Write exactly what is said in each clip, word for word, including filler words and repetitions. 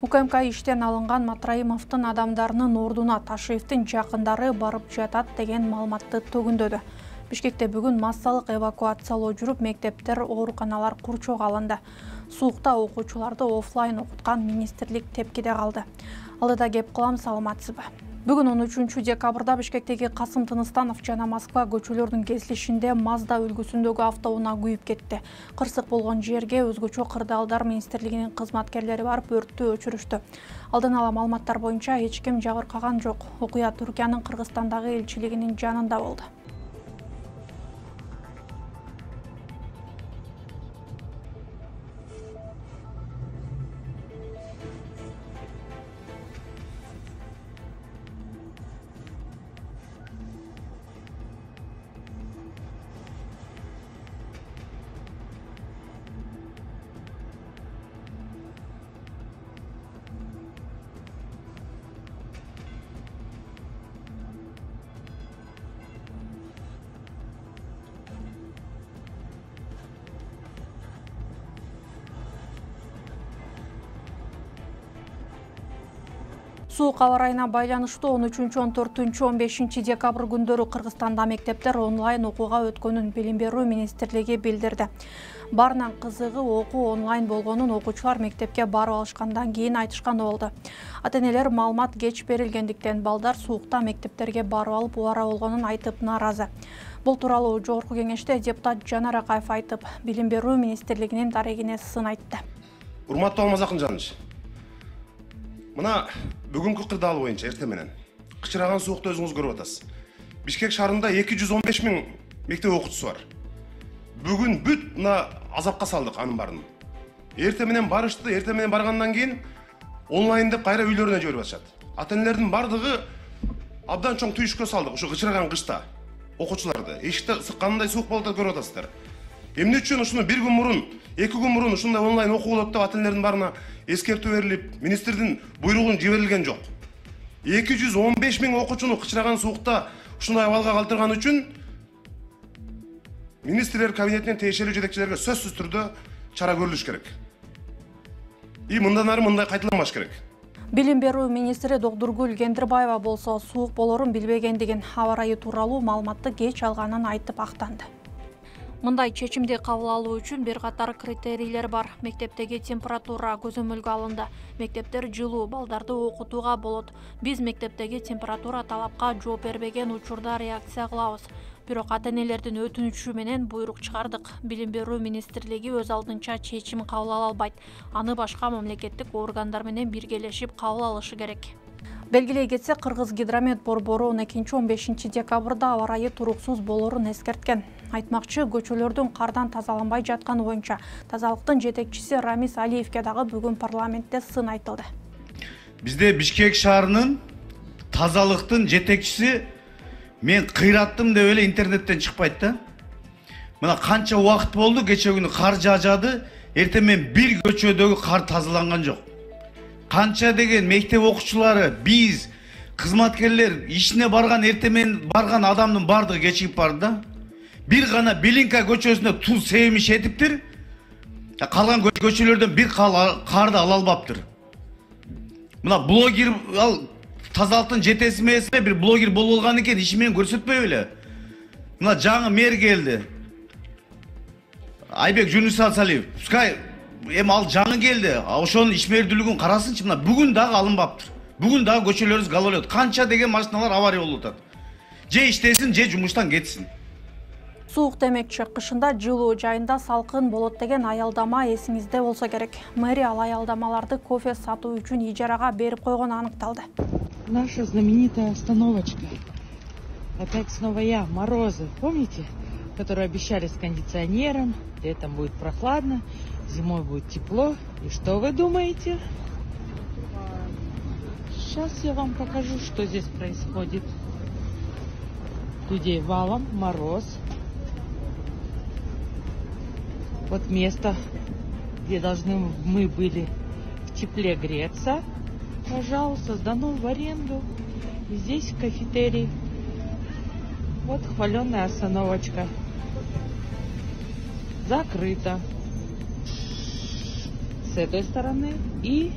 УКМК иштен алынган Матраимовдун адамдарынын ордуна Ташиевдин жакындары барып жатат деген маалыматты төгүндөдү. Бишкекте бүгүн массалык эвакуациялоо жүрүп, мектептер, ооруканалар курчоого алынды. Суукта окуучуларды офлайн окуткан министрлик тепкиде калды. Алдыда кеп кылам, саламатсызбы? Бүгүн он үчүнчү декабрда Бишкектеги Касым Тыныстанов жана Москва көчөлөрүнүн кесилишинде Мазда үлгүсүндөгү автоунаа күйүп кетти. Кырсык болгон жерге өзгөчө кырдаалдар министрлигинин кызматкерлери барып өрттү өчүрүштү. Алдын ала маалыматтар боюнча эч ким жабыркаган жок. Окуя Түркиянын Кыргызстандагы элчилигинин жанында болду. Суук аба ырайына байланыштуу он үчүнчү, он төртүнчү, он бешинчи декабрь күндөрү Кыргызстанда мектептер онлайн окууга өткөнүн Билим берүү министрлиги билдирди. Баарынан кызыгы окуу онлайн болгонун окуучулар мектепке барып алышкандан кийин айтышкан болду. Ата-энелер маалымат кеч берилгендиктен балдар суукта мектептерге барып алып убара болгонун айтып нааразы. Бул тууралуу Жогорку Кеңеште депутат Жанар Акаев айтып, Билим берүү министрлигинин дарегине сын айтты. Урматтуу Алмаз Акынжанович, мына бүгүнкү кырдаал боюнча эртең менен кычыраган суукты өзүңүз көрүп атасыз. Бишкек шаарында эки жүз он беш миң мектеп окуучусу бар. Бүгүн бүт мына азапка салдык анын баарын. Эртең менен барышты, эртең менен баргандан кийин онлайн деп кайра үйлөрүнө жиберип атышат. Ата-энелердин бардыгы абдан чоң түйүшкө салдык ушу кычыраган кышта окуучуларды. Эшикте сыккандай суук болуп атат, көрүп атасыздар. Эмне үчүн ушуну бир күн мурун, эки күн мурун ушундай онлайн окуу болот деп ата-энелердин баарына эскертүү берилип, министрдин буйругун жиберилген жок. эки жүз он беш миң окуучуну кычыраган суукта ушундай абалга калтырган үчүн министрлер кабинетинин тиешелүү жетекчилерге сөзсүз түрдө чара көрүлүш керек. И мындан ары мындай кайталанбаш керек. Билим берүү министри Докдургүл Кендирбаева болсо суук болорун билбегендигин, аба ырайы тууралуу маалыматты кеч алганын айтып актанды. Мындай чечимди кабыл алуу үчүн бир катар критерийлер бар. Мектептеги температура көзөмөлгө алынды. Мектептер жылуу, балдарды окутууга болот. Биз мектептеги температура талапка жооп бербеген учурда реакция кылабыз. Бирок ата-энелердин өтүнүчү менен буйрук чыгардык. Билим берүү министрлиги өз алдынча чечим кабыл ала албайт. Аны башка мамлекеттик органдар менен биргелешип кабыл алышы керек. Белгилей кетсек, Кыргыз гидромет борбору он экинчи, он бешинчи декабрда аба ырайы туруксуз болорун эскерткен. Айтмакчы, көчөлөрдүн кардан тазаланбай жатканы боюнча тазалыктын жетекчиси Рамис Алиевке дагы бүгүн парламентте сын айтылды. Бизде Бишкек шаарынын тазалыктын жетекчиси мен кыйраттым деп эле интернеттен чыкпайт да. Мына канча убакыт болду, кече күнү кар жаажады, эртең менен бир көчөдөгү кар тазаланган жок. Канча деген мектеп окуучулары, биз кызматкерлер ишине барган, эртең менен барган адамдын бардыгы кечигип барды да. Бир гана Белинка көчөсүндө туз себимиш этиптир. Калган көчөлөрдөн бир карды ала албаптыр. Мына блогер ал тазалыктын жетеси эмесме, бир блогер болуп алган экен, иши менен көрсөтпөй беле. Мына жаңы мэр келди. Айбек Жунусалиев. Пускай эми ал жаңы келди. Ошонун ишмердүүлүгүн карасынчы, мына бүгүн дагы алынбаптыр. Бүгүн дагы көчөлөрүбүз галолот. Канча деген машиналар авария болуп атат. Же иштесин, же жумуштан кетсин. Суук демекчи, кышында жылуу, жайында салкын болот деген аялдама эсиңизде болсо керек. Мэрия ал аялдамаларды кофе сатуу үчүн ижарага берип койгону аныкталды. Наша знаменитая остановочка. Опять снова я, морозы, помните? Которые обещали с кондиционером, летом будет прохладно, зимой будет тепло. И что вы думаете? Сейчас я вам покажу, что здесь происходит. Людей валом, мороз. Вот место, где должны мы были в тепле греться, пожалуйста, сдано в аренду. И здесь кафетерий. Вот хваленая остановочка. Закрыто. С этой стороны и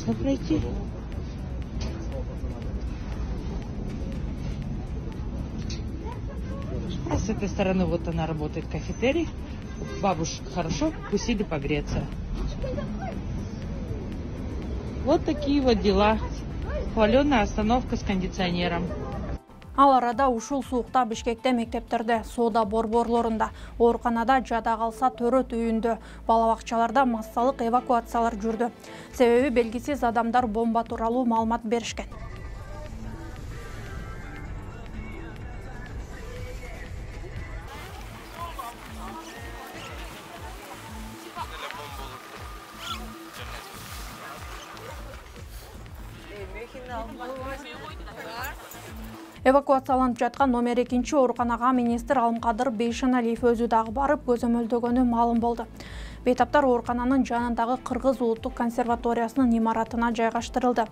можно пройти. А с этой стороны вот она работает, кафетерий. Бабушек хорошо вкусили погреться. Вот такие вот дела. Хваленая остановка с кондиционером. Ал арада ушул суукта Бишкекте мектептерде, соода борборлорунда, ооруканада, жада калса төрөт үйүндө, бала бакчаларда массалык эвакуациялар жүрдү. Себеби белгисиз адамдар бомба тууралуу маалымат беришкен. Эвакуацияланып жаткан номер экинчи ооруканага министр Алымкадыр Бейшеналиев өзү дагы барып көзөмөлдөгөнү маалым болду. Бейтаптар оорукананын жанындагы Кыргыз улуттук консерваториясынын имаратына жайгаштырылды.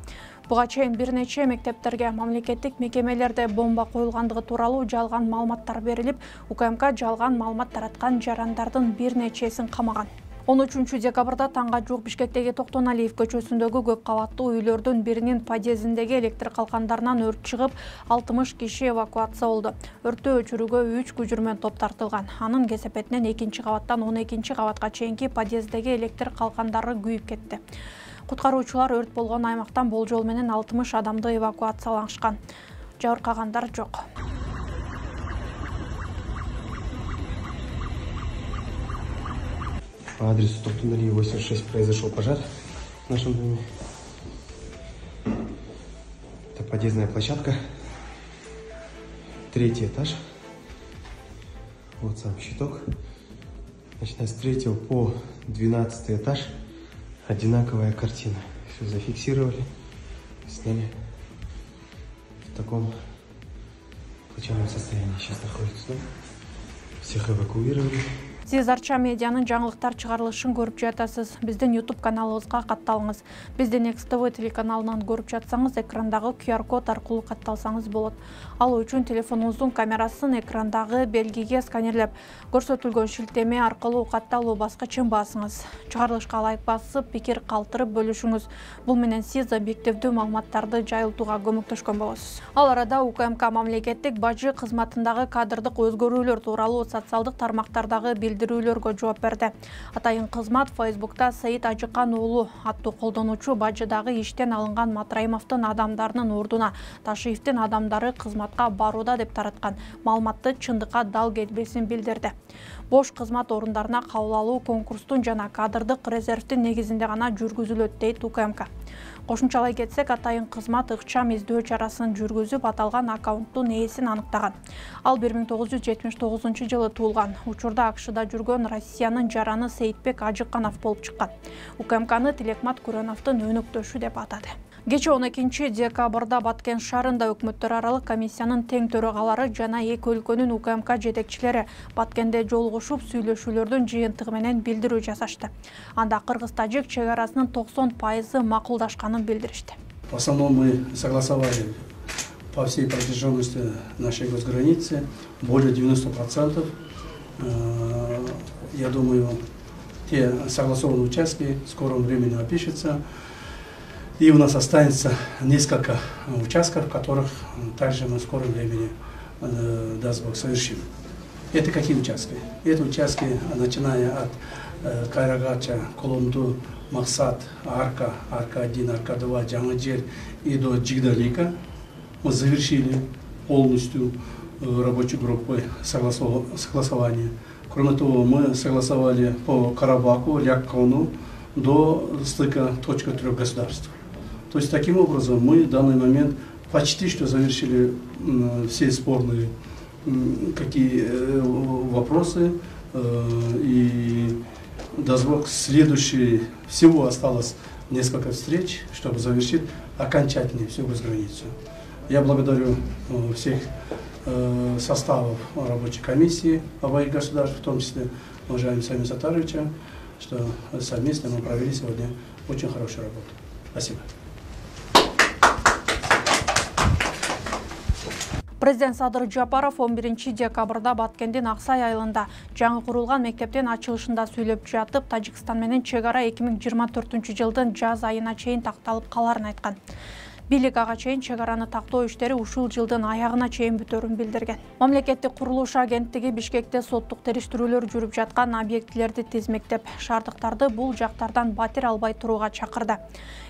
Буга чейин бир нече мектептерге, мамлекеттик мекемелерде бомба коюлгандыгы тууралуу жалган маалыматтар берилип, УКМК жалган маалымат тараткан жарандардын бир нечесин камаган. он үчүнчү декабрда таңга жук Бишкектеги Токтоналиев көчөсүндөгү көп кабаттуу үйлөрдүн биринин подъездиндеги электр калкандарынан өрт чыгып, алтымыш киши эвакуация болду. Өрттү өчүрүүгө үч күчүрмөн топ тартылган. Анын кесепетинен экинчи кабаттан он экинчи кабатка чейинки подъезддеги электр калкандары күйүп кетти. Куткаруучулар өрт болгон аймактан болжол менен алтымыш адамды эвакуациялашкан. Жабыркагандар жок. По адресу Токтоналиев восемьдесят шесть произошел пожар в нашем доме. Это подъездная площадка. Третий этаж. Вот сам щиток. Начиная с третьего по двенадцатый этаж одинаковая картина. Все зафиксировали, сняли. В таком плачевном состоянии сейчас находится дом. Всех эвакуировали. Сиз Арча медианын жаңылыктар чыгарылышын көрүп жатасыз. Биздин YouTube каналыбызга катталыңыз. Биздин Экс Тэ Вэ телеканалынан көрүп жатсаңыз, экрандагы ку ар код аркылуу катталсаңыз болот. Ал үчүн телефонуңуздун камерасын экрандагы белгиге сканерлеп, көрсөтүлгөн шилтеме аркылуу катталуу баскычын басыңыз. Чыгарылышка лайк басып, пикир калтырып бөлүшүңүз. Бул менен сиз объективдүү маалыматтарды жайылтууга көмөктөшкөн болосуз. Ал арада УКМК мамлекеттик бажы кызматындагы кадрдык өзгөрүүлөр тууралуу социалдык тармактардагы билдирүүлөргө жооп берди. Атайын кызмат Фейсбукта Саид Ажыкан уулу аттуу колдонуучу бажыдагы иштен алынган Матраимовдун адамдарынын ордуна Ташиевдин адамдары кызматка барууда деп тараткан маалыматты чындыкка дал келбесин билдирди. Бош кызмат орундарына кабыл алуу конкурстун жана кадрдык резервдин негизинде гана жүргүзүлөт дейт УКМК. Кошумчалай кетсек, атайын кызмат ыкчам издөө чарасын жүргүзүп, аталган аккаунттун ээсин аныктаган. Ал бир миң тогуз жүз жетимиш тогузунчу жылы туулган. Учурда АКШда жүргөн Россиянын жараны Сейитбек Ажыканов болуп чыккан. УКМКны Тилекмат Күрөновдун өнөктөшү деп атады. Кечээ он экинчи декабрда Баткен шаарында өкмөттөр аралык комиссиянын тең төрагалары жана эки өлкөнүн УКМК жетекчилери Баткенде жолугушуп, сүйлөшүүлөрдүн жыйынтыгы менен билдирүү жасашты. Анда кыргыз-тажик чек арасынын токсон пайызы макулдашканын билдиришти. В основном мы согласовали по всей протяженности нашей госграницы более девяноста процентов. Я думаю, те согласованные участки в скором времени опишутся. И у нас останется несколько участков, которых также мы в скором времени, даст Бог, совершим. Это какие участки? Это участки, начиная от Кайрагача, Колумду, Максат, Арка, Арка один, Арка два, Джамаджер и до Джигдалика. Мы завершили полностью рабочей группой согласования. Кроме того, мы согласовали по Карабаку, Ляkkону до стыка точка трех государств. То есть таким образом мы в данный момент почти что завершили все спорные какие вопросы, и даст Бог, следующий, всего осталось несколько встреч, чтобы завершить окончательно всю госграницу. Я благодарю всех составов рабочей комиссии обоих государств, в том числе уважаемого Самиля Сатаровича, что совместно мы провели сегодня очень хорошую работу. Спасибо. Президент Садыр Жапаров он биринчи декабрда Баткендин Аксай айылында жаңы курулган мектептин ачылышында сүйлөп жатып, Тажикстан менен чек ара эки миң жыйырма төртүнчү жылдын жаз айына чейин такталып каларын айткан. Бийлик ага чейин чек араны тактоо иштери ушул жылдын аягына чейин бүтөрүн билдирген. Мамлекеттик курулуш агенттиги Бишкекте соттук териштирүүлөр жүрүп жаткан объектилерди тизмектеп, шаардыктарды бул жактардан батир албай турууга чакырды.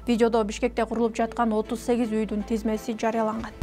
Видеодо Бишкекте курулуп жаткан отуз сегиз үйдүн тизмеси жарыяланган.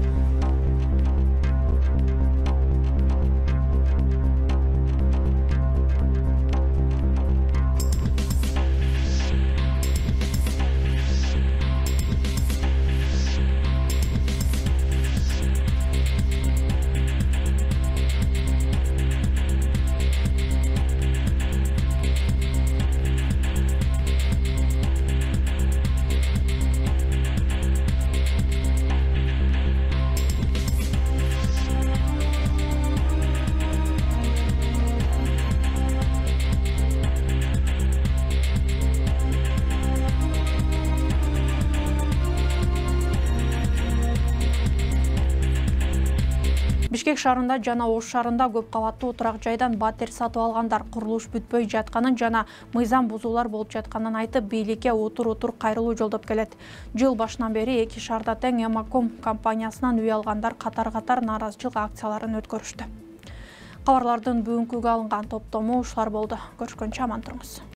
Бишкек шаарында жана Ош шаарында көп кабаттуу турак жайдан батир сатып алгандар курулуш бүтпөй жатканын жана мыйзам бузуулар болуп жатканын айтып, бийликке утур-утур кайрылуу жолдоп келет. Жыл башынан бери эки шаарда тең Эмаком компаниясынан үй алгандар катар-катар нааразычылык акцияларын өткөрүштү. Кабарлардын бүгүнкүгө алынган топтому ушулар болду. Көрүшкөнчө аман туруңуз.